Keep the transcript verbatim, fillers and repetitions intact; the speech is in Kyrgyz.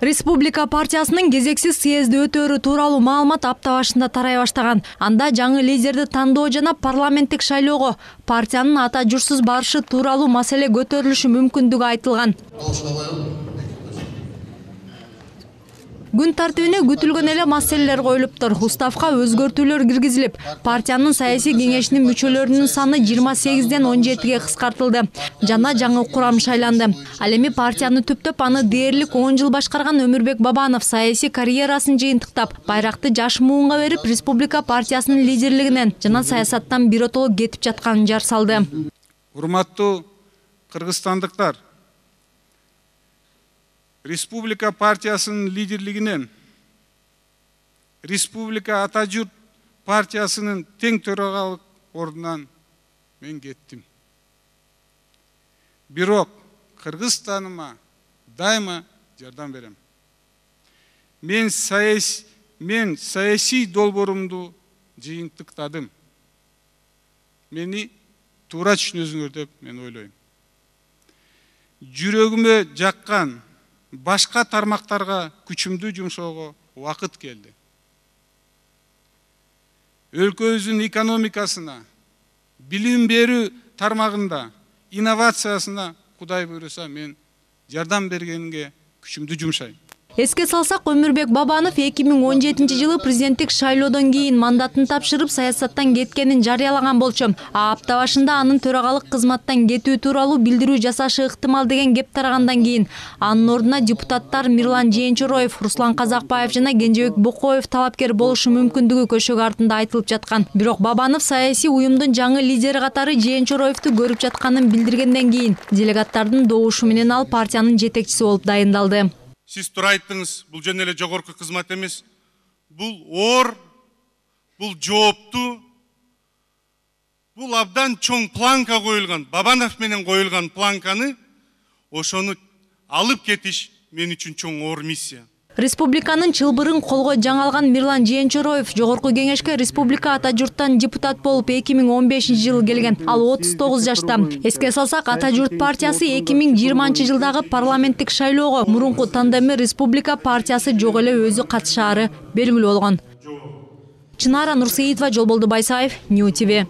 Республика партиясынын кезексиз съезди өтөөрү тууралуу маалымат апта башында тарай баштаган. Анда жаңы лидерди тандоо жана парламенттик шайлоого партиянын ата журтсуз барышы тууралуу маселе көтөрүлүшү мүмкүндүгү айтылган. Күн тартибине күтүлгөн эле маселелер коюлуптур. Уставка өзгөртүүлөр киргизилип, партиянын саясий кеңешинин мүчөлөрүнүн саны жыйырма сегизден он жетиге кыскартылды жана жаңы курам шайланды. Ал эми партияны түптөп аны дээрлик он жыл башкарган Өмүрбек Бабанов саясий карьерасын жыйынтыктап, байракты жаш муунга берип, Республика партиясынын лидерлигинен жана саясаттан биротоло кетип жатканын жар салды. Урматтуу кыргызстандыктар, Республика партиясынын лидерлигинен Республика ата журт партиясынын тең төрагалык ордунан мен кеттим. Бирок Кыргызстаныма дайыма жардам берем. Мен саясий мен саясий долбоорумду жыйынтыктадым. Мени туура түшүнөсүңөр деп мен ойлойм. Жүрөгүмө жаккан башка тармактарга күчүмдү жумшоого убакыт келди. Өлкөбүздүн экономикасына, билим берүү тармагында, инновациясына Кудай буйруса мен жардам бергенге күчүмдү жумшайм. Эске салсак, Өмүрбек Бабанов эки миң он жетинчи жылы президенттик шайлоодон кийин мандатын тапшырып, саясаттан кеткенин жарыялаган болчу. А апта башында анын төрагалык кызматтан кетүү тууралуу билдирүү жасашы ыктымал деген кеп тарагандан кийин анын ордуна депутаттар Мирлан Жээнчороев, Руслан Казакбаев жана Кенжебек Бокоев талапкер болушу мүмкүндүгү көшөгө артында айтылып жаткан. Бирок Бабанов саясий уюмдун жаңы лидери катары Жээнчороевду көрүп жатканын билдиргенден кийин делегаттардын добушу менен ал партиянын жетекчиси болуп дайындалды. Сиз туура айттыңыз, бул жөн эле жогорку кызмат эмес. Бул оор, бул жооптуу, бул абдан чоң планка коюлган, Бабанов менен коюлган планканы ошону алып кетиш мен үчүн чоң оор миссия. Республиканын чылбырын колго жаңалган Мирлан Жээнчороев жогорку кеңешке Республика ата журттан депутат болуп эки миң он бешинчи жылы келген. Ал отуз тогуз жашта. Эске салсак, ата журт партиясы эки миң жыйырманчы жылдагы парламенттик шайлоого мурунку тандемир Республика партиясы жок эле өзү катышаары белгилүү болгон. Чынара Нурсеитова, Жолболду Байсаев, Нью ТВ.